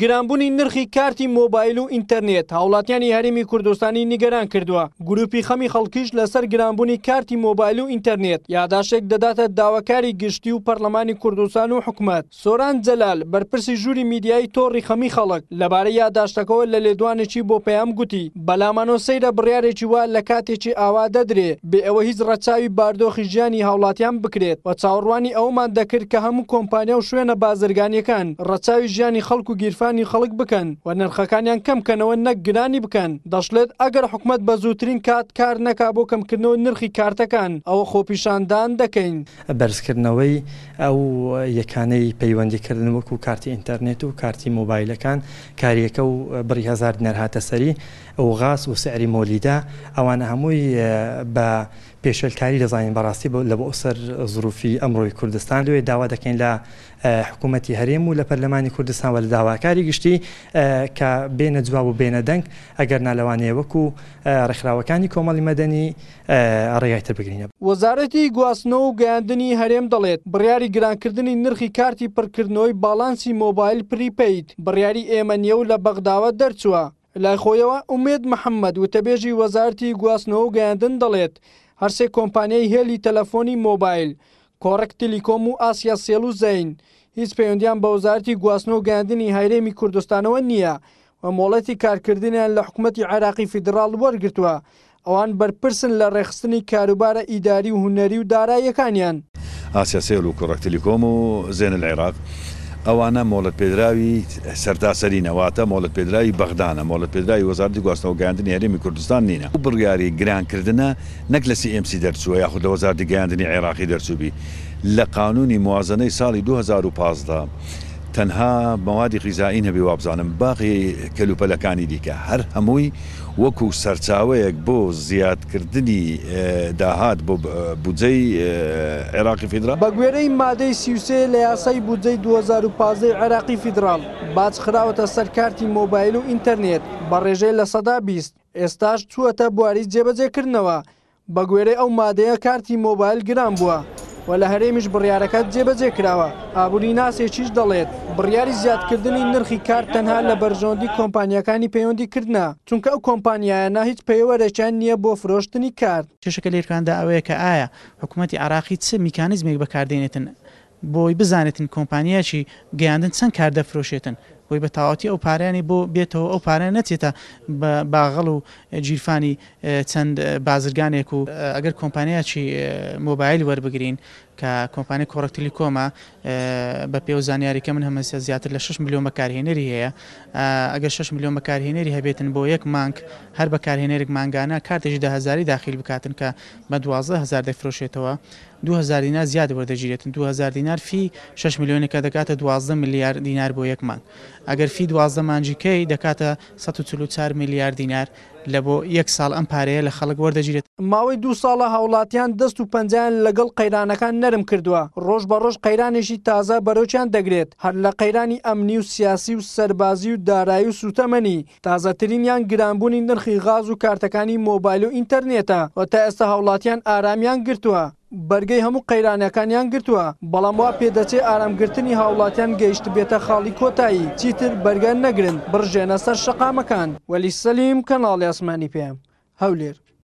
گرانبوونی نرخی کارتی مۆبایل و ئینتەرنێت هاوڵاتیانی هەرێمی کوردستانی نیگەران کردووە، گروپی خەمی خەڵکیش لەسەر گرانبوونی کارتی مۆبایل و ئینتەرنێت یاداشتێک دەداتە داواکاری گشتی و پەرلەمانی کوردستان و حکومەت. سۆران جەلال، بەرپرسی ژووری میدیایی تۆڕی خەمی خەڵک، لەبارەی یاداشتەکەوە لە لێدوانێکی بۆ پەیام گوتی، بەلامانەوە سەیرە بڕیارێکی وا لە کاتێکی ئاوا دەدرێ بێ ئەوەی هیچ ڕەچاوی باردۆخی ژیانی هاوڵاتیان بکرێت و چاوەڕوانی ئەوەمان دەکرد کە هەموو کۆمپانیا و شوێنە بازرگانیەکان ڕەچاوی ژیانی خەڵک و گیرفانی خەڵک بکەن و نرخەکانیان کەم کەنەوە نەک گرانی بکەن. دەشڵێت، ئەگەر حکومەت بە زووترین کات کار نەکا بۆ کەمکردنەوەی نرخی کارتەکان ئەوە خۆپیشاندان دەکەین. بەرزکردنەوەی ئەو یەکانەی پەیوەندیکردن وەکو کارتی ئینتەرنێت و کارتی مۆبایلەکان کاریەکە و بڕی هەزار دینار هاتە سەری و غاز و سعری مۆلیدە ئەوانە هەمووی بە پێشێلکاری دەزانین بەڕاستی لە بۆ سەر زروفی ئەمڕۆی کوردستان لێ داوا دەکەین لە حکوومەتی هەرێم و لە پەرلەمانی کوردستان و لە داواکاری گشتی کە بێنە جواب و بێنە دەنگ ئەگەر نا لەوانەیە وەکو ڕێکخراوەکانی کۆمەڵی مەدەنی ڕێگای تر بگرینە. وەزارەتی گواستنەوە و گەیاندنی هەرێم دەڵێت، بڕیاری گرانکردنی نرخی کارتی پڕکردنەوەی باڵانسی مۆبایل prepaid بڕیاری ئێمە نییە و لە بەغداوە دەرچووە. لای خۆیەوە ئومێد محەمەد، وتەبێژی وەزارەتی گواستنەوە و گەیاندن دەڵێت، هەرسێ کۆمپانیای هێلی تەلەفۆنی مۆبایل، کۆڕەک تیلیکۆم و ئاسیا سێڵ و زەین، هیچ پەیوەندیان بە وەزارەتی گواستنەوە و گەیاندنی هەرێمی کوردستانەوە نییە و مۆڵەتی کارکردنیان لە حکومەتی عێراقی فیدڕاڵ وەرگرتووە، ئەوان بەرپرسن لە ڕێکخستنی کاروبارە ئیداری و هونەری و داراییەکانیان. ئاسیاسێل و کۆڕەک تلیکۆم و زێن العراق ئەوانە مۆڵەتپێدراوی سەرتاسەرینە، واتە مۆڵەتپێدراوی بەغدانە، مۆڵەتپێدراوی وەزارەتی گواستنەوە و گەیاندنی هەرێمی کوردستان نینە. ئەو بڕیاری گرانکردنە نەک لە سی ئێم سی دەرچووە یاخود لە وەزارەتی گەیاندنی عێراقی دەرچووبی، لە قانونی موازەنەی ساڵی 2015 تەنها مەوادی غیزائی نەبی وابزانم باقی کەلوپەلەکانی دیکە هەر هەمووی وەکو سەرچاوەیەک بۆ زیادکردنی داهات بۆ بودجەی عێراقی فیدراڵ. بەگوێرەی مادەی 33 لە یاسای بودجەی 2015 ی عێراقی فیدراڵ، باج خراوەتە سەر کارتی مۆبایل و ئینتەرنێت بە ڕێژەی 20%، ئێستاش چووەتە بواری جێبەجێکردنەوە، بەگوێرەی ئەو مادەیە کارتی مۆبایل گران بووە و لە هەرێمیش بڕیارەکە جێبەجێ کراوە، ئابووریناسێکیش دەڵێت، بڕیاری زیادکردنی نرخی کارت تەنها لە بەرژەوەندی کۆمپانیاکانی پەیوەندیکردنە، چونکە ئەو کۆمپانیایانە هیچ پێوەرێکیان نییە بۆ فرۆشتنی کارت. کێشەکە لێرکاندا ئەوەیە کە ئایا حکوومەتی عێراقی چ میکانیزمێک بەکاردێنێتن بۆی بزانێتن کۆمپانیایەکی گەیاندن چەند کار دەفرۆشێتن بۆی بە تەواوەتی ئەو پارەیانی بۆ بێتەوە ئەو پارە نەچێتە بە باغەڵ و گیرفانی چەند بازرگانێک و ئەگەر کۆمپانیایەکی مۆبایل وەربگرین کە کۆمپانیای کۆڕەک تلیکۆمە بە پێ و زانیاری کە من هەمە زیاتر لە 6 ملیۆن بەکارهێنەری هەیە ئەگەر 6 ملیۆن بەکارهێنەری هەبێتن بۆ یەک مانگ هەر بەکارهێنەرێک مانگانە کارتێکی دە هەزاری داخیل بکاتن کە بە 12 هەزار دەفرۆشێتەوە 2000 دینار زیاد وەردەگیرێتن 2000 دینار فی 6 ملیۆنێکە دەکاتە 12 ملیار دینار بۆ یەک مانگ ئەگەر فی 12 مانگی کەی دەکاتە 144 ملیار دینار لە بۆ یەک ساڵ ئەم پارەیە لە خەڵک وەردەگیرێت. ماوەی دوو ساڵە هاوڵاتیان دەست و پەنجەیان لەگەڵ قەیرانەکان نەرم کردووە، ڕۆژ بە ڕۆژ قەیرانێکی تازە بەرۆکیان دەگرێت، هەر لە قەیرانی ئەمنی و سیاسی و سەربازی و دارایی و سووتەمەنی، تازەترینیان گرانبوونی نرخی غاز و کارتەکانی مۆبایل و ئینتەرنێتە و تا ئێستا هاوڵاتیان ئارامیان گرتووە، بەرگەی هەموو قەیرانەکانیان گرتووە، بەڵام وا پێدەچێ ئارامگرتنی هاوڵاتیان گەیشتبێتە خاڵی کۆتایی، چیتر بەرگە نەگرن بڕژێنە سەر شەقامەکان. وەلی سەلیم، کەناڵی ئاسمانی پەیام، هەولێر.